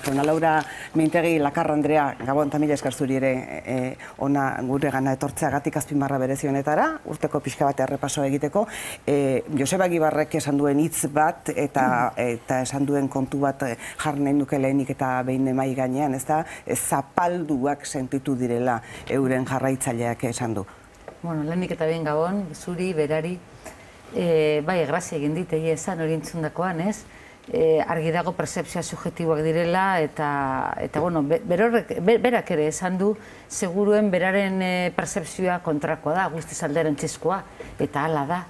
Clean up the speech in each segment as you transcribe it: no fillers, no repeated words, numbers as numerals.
Ana Laura Mintegi Lakarra Andrea, Gabon eta mila esker zuri ere ona gure gana etortzeagatik azpimarra berezi honetara, urteko pixka bat errepaso egiteko. Joseba Egibarrek esan duen hitz bat eta esan duen kontu bat jarri nahi nuke lehenik eta behin mahai gainean, ez da, zapalduak sentitu direla euren jarraitzaileak esan du. Bueno, lehenik eta behin Gabon, zuri, berari, bai, grazia egin dit, esan hori entzundakoan, ez? Argi dago percepzioa subjektiboak direla eta bueno, berak ere esan du seguruen beraren percepzioa kontrakoa da, guztiz alderantzizkoa, eta hala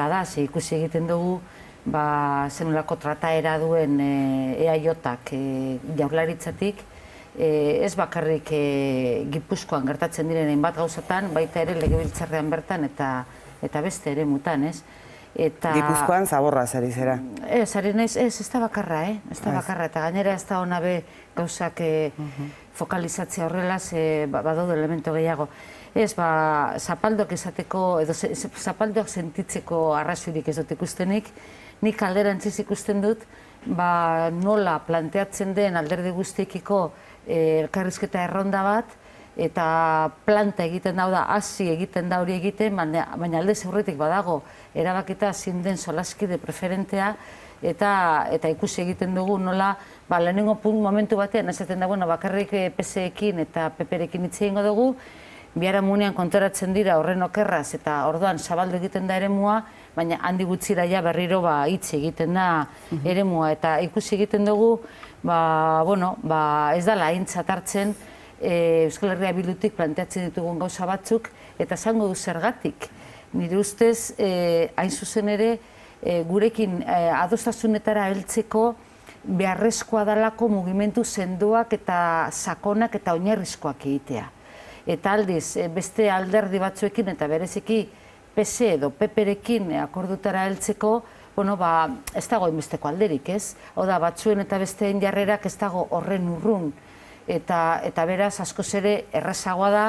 da, ze ikusi egiten dugu zenolako trataera duen EAJak Jaurlaritzatik, ez bakarrik Gipuzkoan gertatzen diren hainbat gauzatan, baita ere Legebiltzarrean bertan eta beste ere mutan, ez? Gipuzkoan zaborra zari zera? Ez da bakarra, ez da bakarra, eta gainera ez da hona be gauzak fokalizatzea horrela, badaude elemento gehiago. Ez, zapaldoak esateko, edo zapaldoak sentitzeko arrazoirik ez dut ikustenik, nik alderantziz ikusten dut, nola planteatzen den alderdi guztiekiko elkarrizketa erronda bat, eta planta egiten da, hasi egiten da hori egiten, baina alde aurretik badago, erabakita zein den solaskide preferentea, eta ikusi egiten dugu nola, lehenengo momentu batean, esaten da, bakarrik PSekin eta PPrekin hitz egingo dugu, biharamunean kontoratzen dira horren okerraz, eta orduan zabaldu egiten da eremua, baina handi gutxira ja berriro hitz egiten da eremua, eta ikusi egiten dugu, ez dela aintzat hartzen, Euskal Herria Bildutik planteatzen ditugun gauza batzuk, eta esango du zergatik. Nire ustez, hain zuzen ere, gurekin adostasunetara heltzeko beharrezkoa dalako mugimendu sendoak eta sakonak eta oinarrizkoak egitea. Eta aldiz, beste alderdi batzuekin eta bereziki PSE edo PPrekin akordutara heltzeko, ez dago inbesteko alderik, ez? Oda, batzuen eta besteen jarrerak ez dago horren urrun. Eta beraz, askoz ere, errazagoa da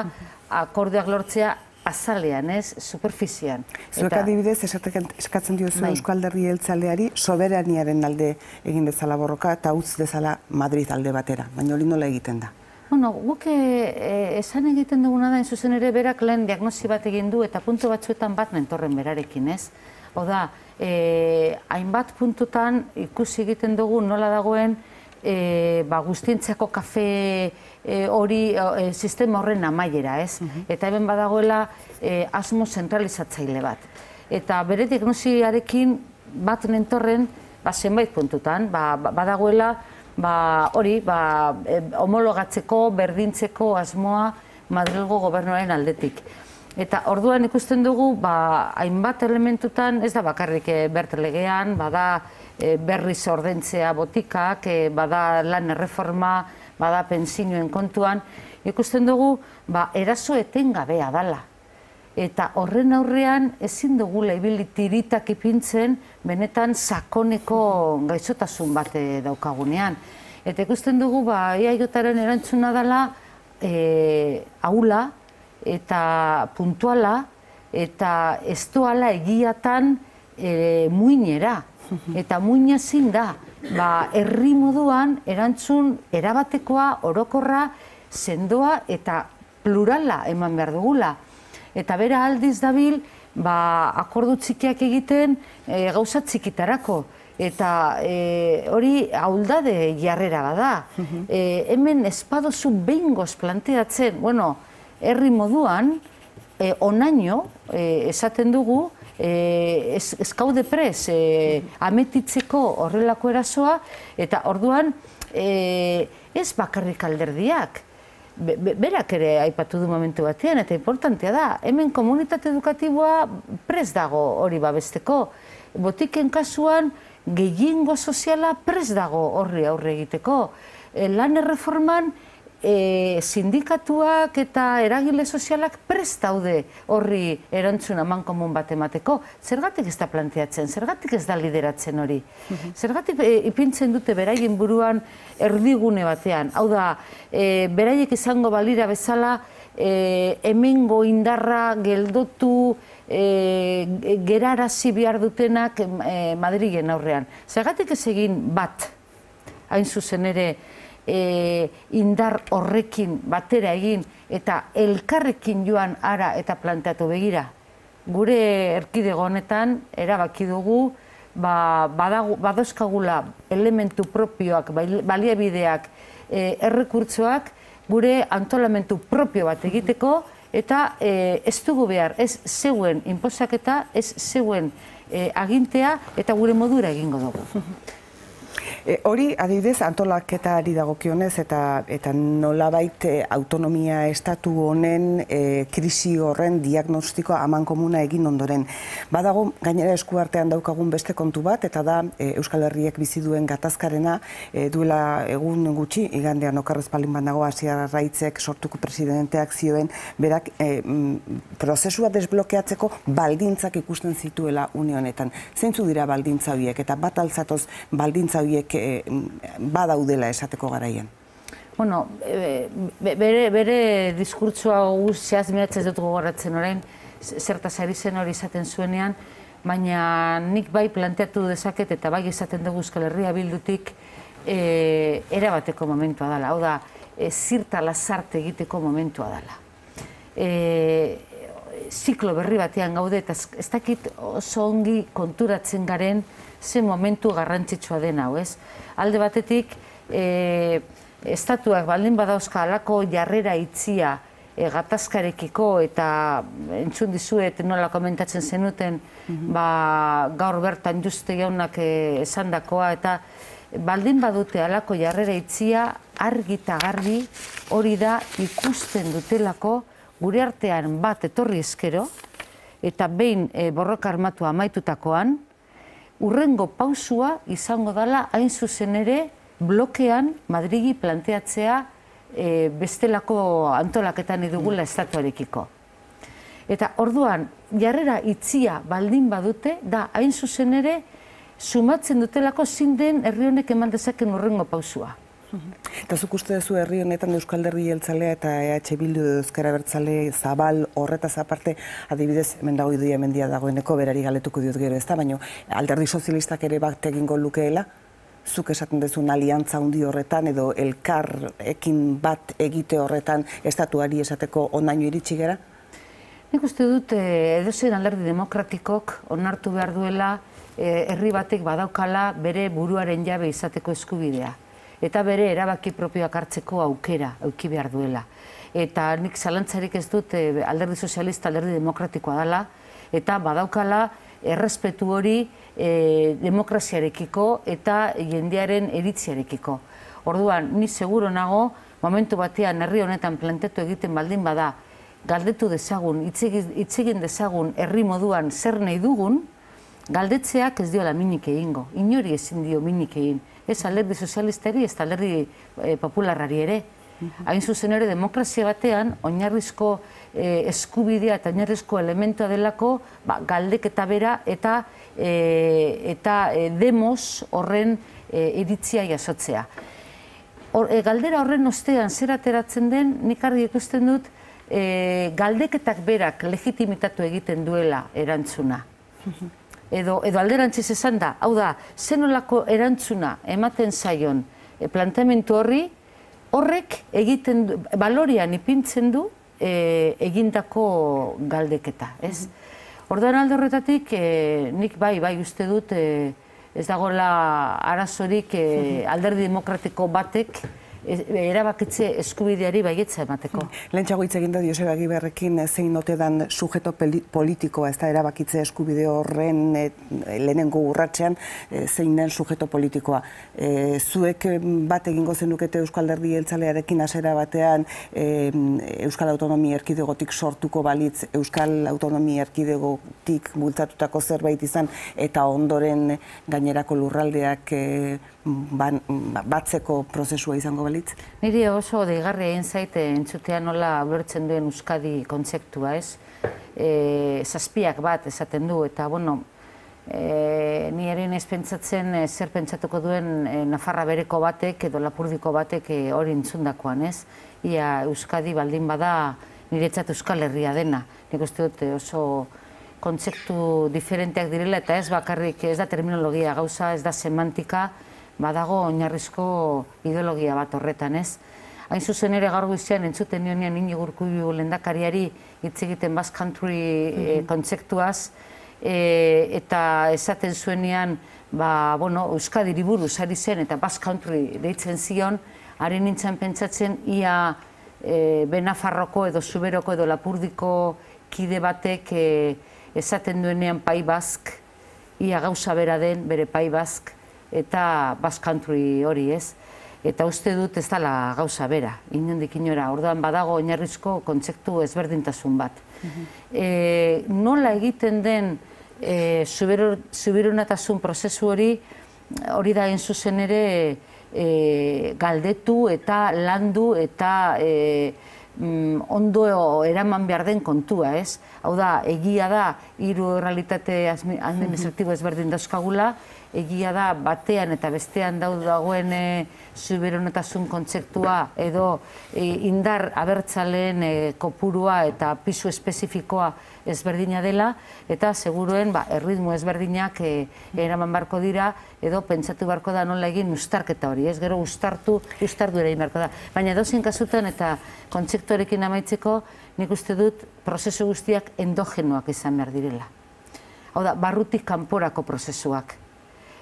akordioak lortzea azalean, ez, superfizian. Zuek adibidez, eskatzen diozu Eusko Alderdi Jeltzaleari soberaniaren alde egin dezala borroka eta utz dezala Madrid alde batera, baina hori nola egiten da? Guk esan egiten duguna da, zuzen ere berak lehen diagnosi bat egin du eta puntu batzuetan bat nentorren berarekin, ez? Oda, hainbat puntutan ikusi egiten dugu nola dagoen guztientzako kafe hori sistema horren amaiera, ez? Eta hemen badagoela asmo zentralizatzaile bat. Eta bere diagnosiarekin bat nentorren zenbait puntutan, badagoela hori homologatzeko, berdintzeko asmoa Madrilgo gobernuaren aldetik. Eta orduan ikusten dugu, hainbat elementutan, ez da bakarrik bertelegean, bada berriz ordentzea botikak, bada lan erreforma, bada pentsioen kontuan, ikusten dugu, eraso etengabea dala. Eta horren aurrean ezin dugula ibili tiritak ipintzen benetan sakoneko gaixotasun bat daukagunean. Eta ikusten dugu, EAJaren erantzuna dela ahula eta puntuala eta ez doala egiatan muinera. Eta muina zin da, herri moduan erantzun erabatekoa, orokorra, sendoa eta plurala eman behar dugula. Eta bera aldiz dabil, akordu txikiak egiten gauza txikitarako. Eta hori ahuldade jarrera bada. Hemen espadozu behingoz planteatzen, herri moduan, onaino, esaten dugu, ez gaude prez ametitzeko horrelako erasoa, eta orduan ez bakarrik alderdiak. Berak ere aipatu du momentu batean, eta importantea da, hemen komunitate edukatiboa prez dago hori babesteko. Botiken kasuan gehiengo soziala prez dago horri aurre egiteko. Lan erreforman sindikatuak eta eragile sozialak prest daude horri erantzun amankomun bat emateko. Zergatik ez da planteatzen, zergatik ez da lideratzen hori. Zergatik ipintzen dute beraien buruan erdigune batean. Hau da, beraiek izango balira bezala hemengo indarra geldotu gerarazi behar dutenak Madrilen aurrean. Zergatik ez egin bat, hain zuzen ere, indar horrekin batera egin eta elkarrekin joan ara eta planteatu begira. Gure erkidego honetan erabaki dugu badauzkagula elementu propioak, baliabideak, errekurtsoak gure antolamentu propio bat egiteko eta ez dugu behar, ez zeuen inposaketa, ez zeuen agintea eta gure modura egingo dugu. Hori, adibidez, antolaketari dagokionez eta nolabait autonomia estatu honen krisi horren diagnostikoa amankomuna egin ondoren. Badago, gainera eskuartean daukagun beste kontu bat, eta da Euskal Herriek bizi duen gatazkarena duela egun gutxi, igandean okarrez palin banago Asier Arraitzek sortuko presidenteak zioen, berak prozesua desblokeatzeko baldintzak ikusten zituela une honetan. Zeintzu dira baldintza horiek, eta bat altzatoz baldintza horiek badaudela esateko garaian? Bueno, bere diskurtsoa zehaz miratzen dut gogoratzen orain, zertaz ari zen hori izaten zuenean, baina nik bai planteatu dezaket eta bai izaten dugu Euskal Herria Bildutik erabateko momentua dela. Hau da, zirta lazarte egiteko momentua dela. Ziklo berri batean gaude eta ez dakit oso ongi konturatzen garen ze momentu garrantzitsua den hau, ez? Alde batetik, estatuak baldin badauzka halako jarrera itzia gatazkarekiko eta entzun dizuet nola komentatzen zenuten gaur bertan Juste jaunak esandakoa eta baldin badute halako jarrera itzia argi eta garbi hori da ikusten dutelako gure artean bat etorri ezkero eta behin borroka armatua amaitutakoan urrengo pausua izango dela hain zuzen ere blokean Madrigi planteatzea bestelako antolaketan edugula estatuarekiko. Eta orduan, jarrera itzia baldin badute, da hain zuzen ere sumatzen dutelako zein den herri honek eman dezaken urrengo pausua. Eta zuk uste duzu herri honetan Euskal Herri Jeltzalea eta EH Bildu Ezker Abertzale zabal horretaz aparte, adibidez, hemen dago Idoia Mendia dagoeneko, berari galetuko diot gero ez da, baina Alderdi Sozialistak ere bat egingo lukeela, zuk esaten duzun aliantza handi horretan edo elkarrekin bat egite horretan estatuari esateko onaino iritsi gara? Nik uste dut edozein alderdi demokratikok onartu behar duela herri batek badaukala bere buruaren jabe izateko eskubidea. Eta bere erabaki propioak hartzeko aukera eduki behar duela. Eta nik zalantzarik ez dut alderdi sozialista, alderdi demokratikoa dela, eta badaukala errespetu hori demokraziarekiko eta jendearen iritziarekiko. Orduan, ni seguro nago, momentu batean herri honetan planteatu egiten baldin bada, galdetu dezagun, hitz egin dezagun herri moduan zer nahi dugun, galdetzeak ez diola minik egingo. Inori ezin dio minik egin. Ez alderdi sozialistari, ez alderdi popularrari ere. Hain zuzen ere, demokrazia batean, oinarrizko eskubidea eta oinarrizko elementua delako galdeketa bera eta demos horren iritzia jasotzea. Galdera horren ostean zer ateratzen den, nik argi ikusten dut, galdeketak berak legitimitatu egiten duela erantzuna. Edo alderantziz esan da, hau da, zenolako erantzuna ematen zaion planteamendu horrek egiten du, balorian ipintzen du egindako galdeketa, ez? Orduan alde horretatik, nik bai uste dut ez dagoela arazorik alderdi demokratiko batek erabakitze eskubideari baietza emateko. Lehentxago hitz egin da Joseba Egiberrekin zein ote dan sujeto politikoa, ez da erabakitze eskubide horren lehenengo urratzean zein den sujeto politikoa. Zuek bat egingo zenukete Euskal Herri Jeltzalearekin hasiera batean Euskal Autonomia Erkidegotik sortuko balitz Euskal Autonomia Erkidegotik bultzatutako zerbait izan eta ondoren gainerako lurraldeak batzeko prozesua izango balitz? Niri oso deigarria egin zaite entzutea nola ulertzen duen Euskadi kontzeptua, ez? Zazpiak bat esaten du, eta, bueno, ni ere naiz pentsatzen zer pentsatuko duen Nafarra bereko batek edo Lapurdiko batek hori entzundakoan, ez? Ia Euskadi baldin bada niretzat Euskal Herria dena. Nik uste dut oso kontzeptu diferenteak direla, eta ez bakarrik, ez da terminologia gauza, ez da semantika, badago oinarrizko ideologia bat horretan, ez? Hain zuzen ere gaur goizean entzuten nionean Iñigo Urkullu lehendakariari hitz egiten Basque Country kontzeptuaz, eta esaten zuenean, Euskadiri buruz ari zen eta Basque Country deitzen zion, ari nintzen pentsatzen ia Benafarroko edo Zuberoko edo Lapurdiko kide batek esaten duenean Pai Bask, ia gauza bera den bere Pai Bask eta Basque Country hori, ez? Eta uste dut ez dela gauza bera, inondik inora, orduan badago oinarrizko kontzeptu ezberdintasun bat. Nola egiten den subiranotasun prozesu hori da hain zuzen ere galdetu eta landu eta ondo eraman behar den kontua, ez? Hau da, egia da, hiru errealitate administratibo ezberdin dauzkagula, egia da, batean eta bestean dagoen subiranotasun kontzeptua edo indar abertzaleen kopurua eta pisu espezifikoa ezberdina dela, eta seguruen erritmo ezberdinak eraman barko dira, edo pentsatu barko da nola egin ustarketa hori, ez? Gero ustartu ere egin barko da. Baina edozein kasutan eta kontzeptuarekin amaitzeko, nik uste dut prozesu guztiak endogenoak izan behar direla. Hau da, barrutik kanporako prozesuak.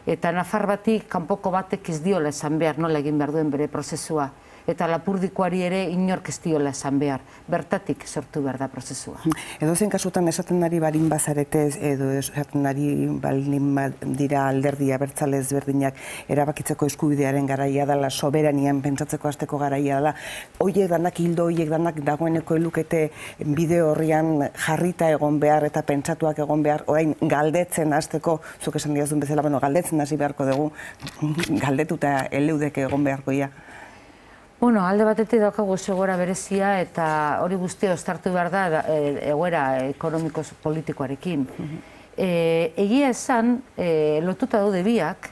Eta nafar batik kanpoko batek ez diola esan behar nola egin behar duen bere prozesua. Eta Lapurdikoari ere inork ez diola esan behar. Bertatik sortu behar da prozesua. Edozein kasutan esaten ari balin bazarete edo esaten ari balin dira alderdi abertzale ezberdinak erabakitzeko eskubidearen garaia dela, soberanian pentsatzeko hasteko garaia dela, horiek danak hildo, horiek danak dagoeneko elukete bideo horrian jarrita egon behar eta pentsatuak egon behar, orain galdetzen hasteko, zuk esan diazun bezala, galdetzen hasi beharko dugu, galdetuta eleudeke egon beharko ia. Alde batetik daukagu egoera berezia eta hori guztia ostartu behar da egoera ekonomiko-politikoarekin. Egia esan, lotuta daude biak,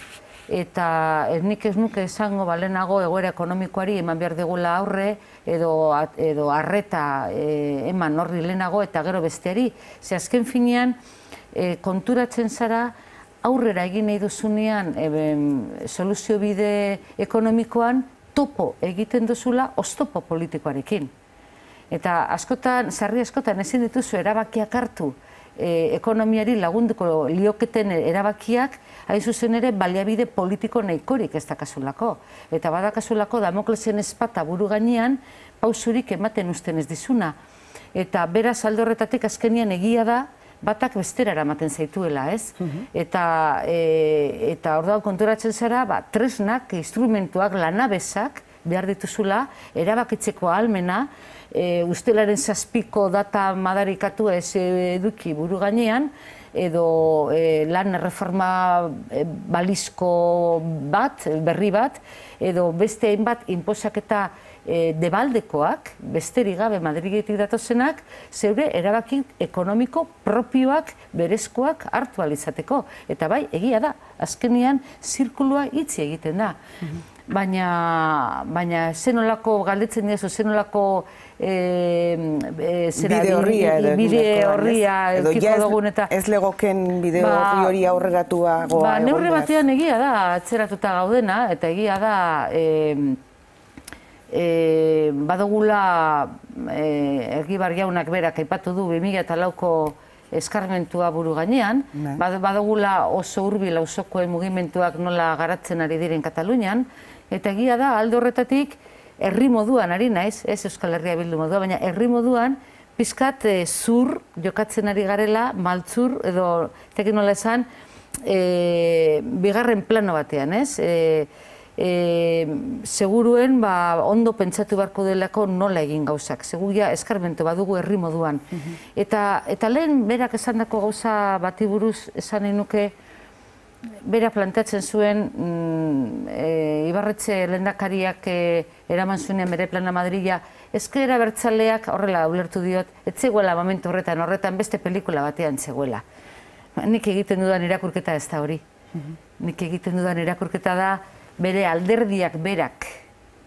eta nik ez nuke esango balenago egoera ekonomikoari eman behar degula aurre edo arreta eman horri lehenago eta gero besteari. Ze azken finean, konturatzen zara aurrera egin nahi duzunean soluzio bide ekonomikoan topo egiten duzula oztopo politikoarekin. Eta sarri askotan ezin dituzu erabakiak hartu ekonomiari lagunduko lioketen erabakiak, hain zuzen ere baliabide politiko nahikorik ez dakazulako. Eta badakazulako Damoklesen ezpata buru gainean pausurik ematen uzten ez dizuna. Eta beraz alde horretatik azkenian egia da batak bestera eramaten zaituela, ez? Eta orduan konturatzen zara, tresnak, instrumentuak, lanabesak behar dituzula, erabakitzeko ahalmena, ustelaren 7ko data madarikatu ez eduki buru gainean, edo lan erreforma balizko bat, berri bat, edo beste hainbat inposaketa debaldekoak, besterik gabe Madridetik datozenak, zeure erabaki ekonomiko propioak, berezkoak hartu alizateko. Eta bai, egia da, azkenean zirkulua itzi egiten da. Baina zenolako galdetzen diazu, zenolako bide horria eukiko dugun eta... Ez legoken bide horri hori aurreratuagoa egon neurri batean egia da, atzeratuta gaudena, eta egia da badugula Egibar jaunak berak aipatu du 2004ko eskarmentua buru gainean, badugula oso hurbil auzokoen mugimenduak nola garatzen ari diren Katalunian, eta egia da alde horretatik herri moduan ari naiz, ez Euskal Herria Bildu modua, baina herri moduan pizkat zur jokatzen ari garela, maltzur edo tekin nola esan, bigarren plano batean, ez? Seguruen ondo pentsatu beharko delako nola egin gauzak. Seguria eskarmentu badugu herri moduan. Eta lehen berak esandako gauza bati buruz esan nahi nuke, bera planteatzen zuen Ibarretxe lehendakariak eraman zuenean bere plana Madrila, ezker abertzaleak horrela ulertu diot, ez zegoela momentu horretan beste pelikula batean zegoela. Nik egiten dudan irakurketa ez da hori. Nik egiten dudan irakurketa da bere alderdiak berak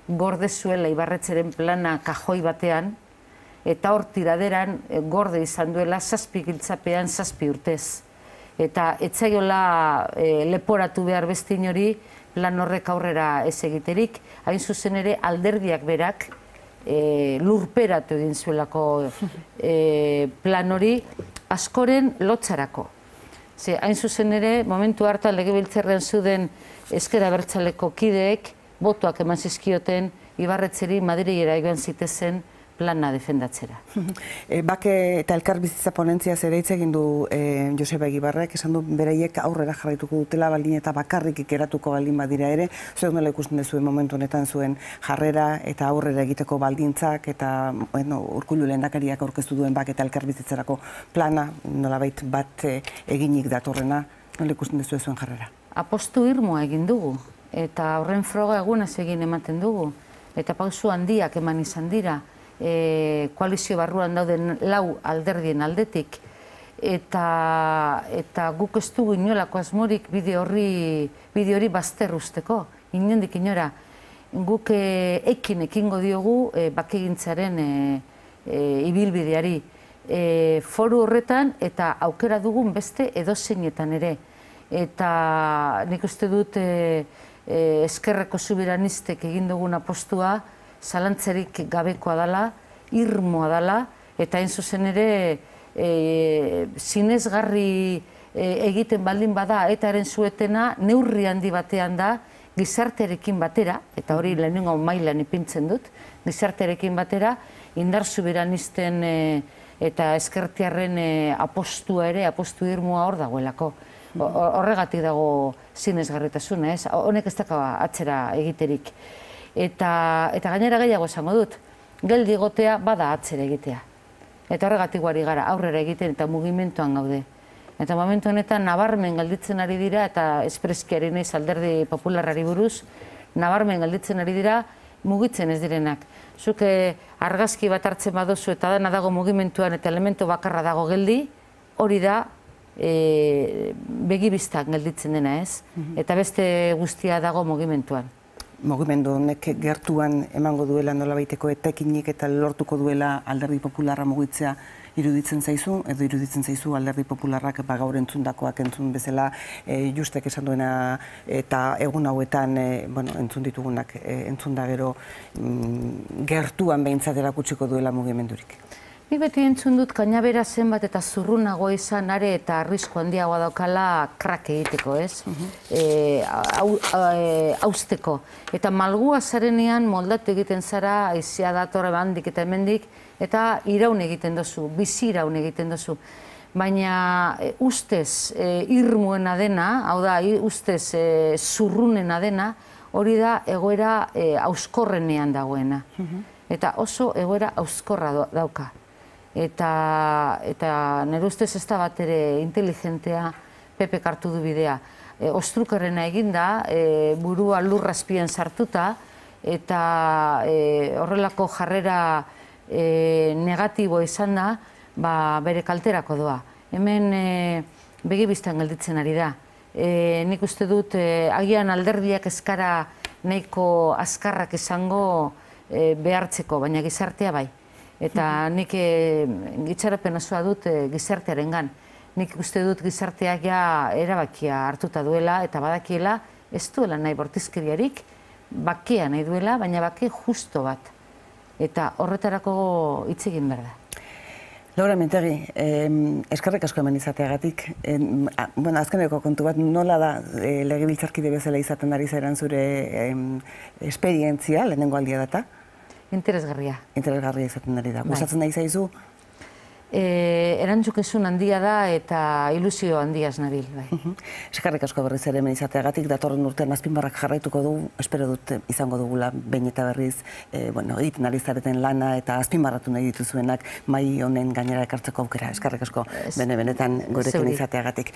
gorde zuela Ibarretxeren plana kajoi batean, eta hor tiraderan gorde izan duela 7 giltzapean 7 urtez. Eta etzaiola leporatu behar beste inori plan horrek aurrera ez egiterik, hain zuzen ere alderdiak berak lurperatu egin zuelako plan hori askoren lotzarako. Ze, hain zuzen ere, momentu hartan legebiltzarrean zuden ezker abertzaleko kideek botoak eman zizkioten Ibarretzeri Madrilera joan zitezen plana defendatzera. Bake eta elkarbizitza ponentziaz ere hitz egin du Joseba Egibarrek, esan du beraiek aurrera jarraituko dutela baldin eta bakarrik ikeratuko baldin badira ere. Zuek nola ikusten duzuen momentu honetan zuen jarrera eta aurrera egiteko baldintzak eta Urkullu lehendakariak aurkeztu duen bake eta elkarbizitzarako plana nolabait bat eginik datorrena, nola ikusten duzuen zuen jarrera? Apostu irmoa egin dugu eta horren froga egunez egin ematen dugu eta pausu handiak eman izan dira. Koalizio barruan dauden 4 alderdien aldetik eta guk ez dugu inolako asmorik bide hori bazter usteko, inondik inora. Guk ekingo diogu bakegintzaren ibilbideari foru horretan eta aukera dugun beste edozeinetan ere. Eta nik uste dut eskerreko subiranistek egin dugun apostua zalantzarik gabekoa dela, irmoa dela, eta hain zuzen ere zinezgarri egiten baldin bada etaren zuetena neurri handi batean da gizartearekin batera, eta hori lehenengo mailan ipintzen dut, gizartearekin batera indar subiranisten eta eskertiarren apostua ere, apostu irmoa hor dagoelako. Horregatik dago zinezgarritasuna, ez? Honek ez daka atzera egiterik. Eta gainera gehiago esango dut, geldi egotea bada atzera egitea. Eta horregatik guari gara aurrera egiten eta mugimenduan gaude. Eta momentu honetan nabarmen gelditzen ari dira eta espreskiari naiz alderdi popularrari buruz, nabarmen gelditzen ari dira mugitzen ez direnak. Zuk argazki bat hartzen baduzu eta dena dago mugimenduan eta elementu bakarra dago geldi, hori da begibistan gelditzen dena, ez? Eta beste guztia dago mugimenduan. Mugimendu honek gertuan emango duela nolabaiteko etekinik eta lortuko duela alderdi popularra mugitzea iruditzen zaizu, edo iruditzen zaizu alderdi popularrak gaur entzundakoak entzun bezala Justek esan duena eta egun hauetan entzun ditugunak entzun da gero gertuan behintzat erakutsiko duela mugimendurik. Nik beti entzun dut kainabera zenbat eta zurrunago izan are eta arrisku handiagoa daukala krak egiteko, ez? Hausteko. Eta malgua zarenean moldatu egiten zara, aizea dator handik eta hemendik, eta iraun egiten dozu, bizi iraun egiten dozu. Baina ustez irmuena dena, hau da, ustez zurrunena dena, hori da egoera hauskorrenean dagoena. Eta oso egoera hauskorra dauka. Eta nire ustez ez da bat ere inteligentea Pepek hartu du bidea. Ostrukarrena eginda, burua lurrazpian sartuta, eta horrelako jarrera negatibo izan da, bere kalterako doa. Hemen begibistan gelditzen ari da. Nik uste dut, agian alderdiak eskara nahiko azkarrak izango behartzeko, baina gizartea bai. Eta nik gitxarapen osoa dut gizartearen gan. Nik uste dut gizarteak ja erabakia hartuta duela eta badakiela ez duela nahi bortizkeriarik, bakea nahi duela, baina bake justo bat. Eta horretarako hitz egin behar da. Laura Mintegi, eskerrik asko hemen izateagatik. Azkeneko kontu bat, nola da legebiltzarkide bezala izaten ari zairan zure esperientzia, lehenengo aldia data? Interesgarria. Interesgarria izaten ari da. Gustatzen nahi zaizu? Erantzukizun handia da eta ilusio handiaz nabil. Eskerrik asko berriz ere hemen izateagatik, datorren urtean azpimarrak jarraituko du, espero dut izango dugula behin eta berriz egiten ari zareten lana eta azpimarratu nahi dituzuenak mahai honen gainera ekartzeko aukera. Eskerrik asko benetan gurekin izateagatik.